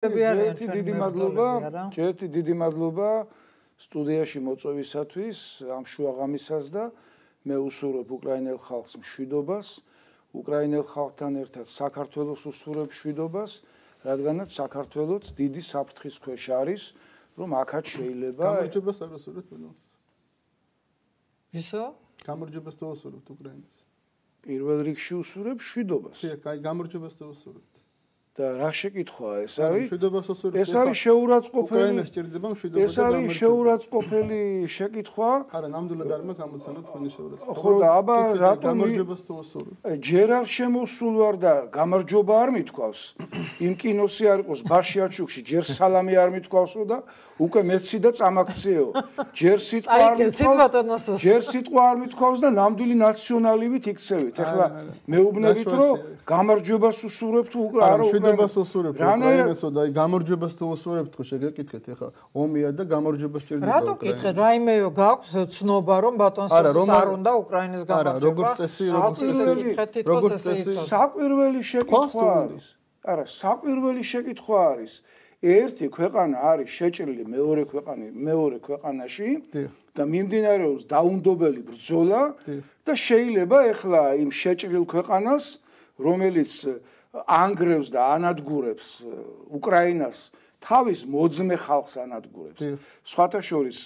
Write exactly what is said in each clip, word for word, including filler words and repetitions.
ერთი დიდი მადლობა, ერთი დიდი მადლობა სტუდიაში მოწვევისათვის ამ შუაღამისას და მე უსურვებ უკრაინელ ხალხს მშვიდობას, უკრაინელ ხალხთან ერთად საქართველოს უსურვებ მშვიდობას, რადგანაც საქართველოც დიდი საფრთხის ქვეშ არის, რომ აქაც შეიძლება გამარჯვებას არ უსურვებთ ყველას. ვისო? გამარჯვებას თუ უსურვებთ უკრაინას. პირველ რიგში უსურვებ მშვიდობას. კი, გამარჯვებას თუ უსურვებთ. და რა შეკითხვაა ეს არის? ეს არის შეურაცხყოფელი. უკრაინას ჭირდება მშვიდობა და ეს არის შეურაცხყოფელი შეკითხვა. არა, ნამდვილად არ მაქვს ამოცანა თქვენი შეურაცხყოფა. ხო და აბა რატომ გამარჯვებას თუ უსურვებთ? ჯერ არ შემოსულ ვარ და გამარჯობა არ მithქვავს. იმ კინოსი არ იყოს ბაშიაჩუკში, ჯერ სალამი არ მithქვავსო და უკვე მეცი და წამაქციეო. ჯერ სიტყვა არ მithქვავს. ჯერ სიტყვა არ მithქვავს და ნამდვილი ნაციონალივით იქცევით. ეხლა მეუბნებით რომ გამარჯვებას უსურვებთ უკრაინას. მშვიდობას უსურვებთ უკრაინასო და გამარჯვებას თუ უსურვებთ ხო შეგეკითხეთ ეხლა ომია და გამარჯვებას ჭირდება რატო კითხეთ რაიმე გაქვს ცნობა რომ ბატონს არ უნდა უკრაინის გამარჯვება არა როგორც წესი როგორც წესი როგორც წესი საკვირველი შეკითხვა არის არა საკვირველი შეკითხვა არის ერთი ქვეყანა არის შეჭრილი მეორე ქვეყანი მეორე ქვეყანაში და მიმდინარეობს დაუნდობელი ბრძოლა და შეიძლება ეხლა იმ შეჭრილ ქვეყანას რომელიც ანგრევს და ანადგურებს უკრაინას თავის მოძმე ხალხს ანადგურებს. სხვათა შორის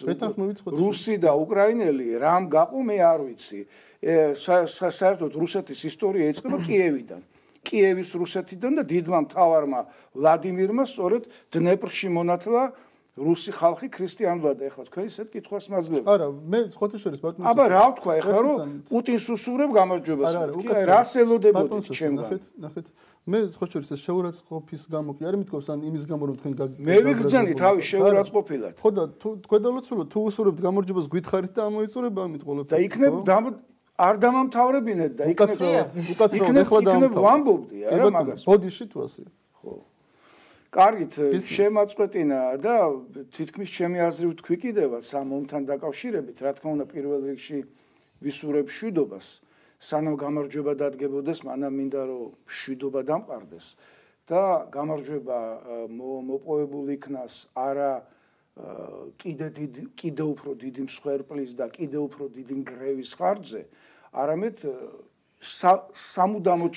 რუსი და უკრაინელი რამ გაყო მე არ ვიცი. საერთოდ რუსეთის ისტორია იწყება კიევიდან. კიევის რუსეთიდან და დიდმა მთავარმა ვლადიმირმა სწორედ დნეპრში მონათლა რუსი ხალხი ქრისტიანულად და ეხლა თქვენ ისეთ კითხვას მაძლევთ. არა, მე სხვათა შორის ბატონო. აბა რა ვთქვა ეხლა რომ პუტინს უსურვებ გამარჯვებას. კი, რას ელოდებოდით ჩემგან? ნახეთ. მე სხვა შორის ეს შეურაცხყოფის გამო კი არ მithქვავს ან იმის გამო რომ თქვენ მე ვიგრძანი თავის შეურაცხყოფილად. ხო და თუ თქვენ დავუცულოთ თუ უსურვებთ გამარჯვებას გითხარით და ამოიწურება ამით ყოველთვის. და იქნებ არ დამამთავრებინეთ და იქნებ უკაცრავად ეხლა დამთავრებინეთ. ვამბობდი არა მაგას. ბოდიში თუ ასე. ხო. კარგით, შემაწყვეტინა და თითქმის ჩემი აზრით თქვი კიდევაც ამ ომთან დაკავშირებით, რა თქმა უნდა პირველ რიგში ვისურვებ მშვიდობას. სანამ გამარჯვება დადგებოდეს, მანამ მინდა რომ მშვიდობა დამყარდეს და გამარჯვება მოპოვებულ იქნას არა კიდე დიდი კიდე უფრო დიდი მსხვერპლის და კიდე უფრო დიდი ნგრევის ხარჯზე, არამედ სამუდამოდ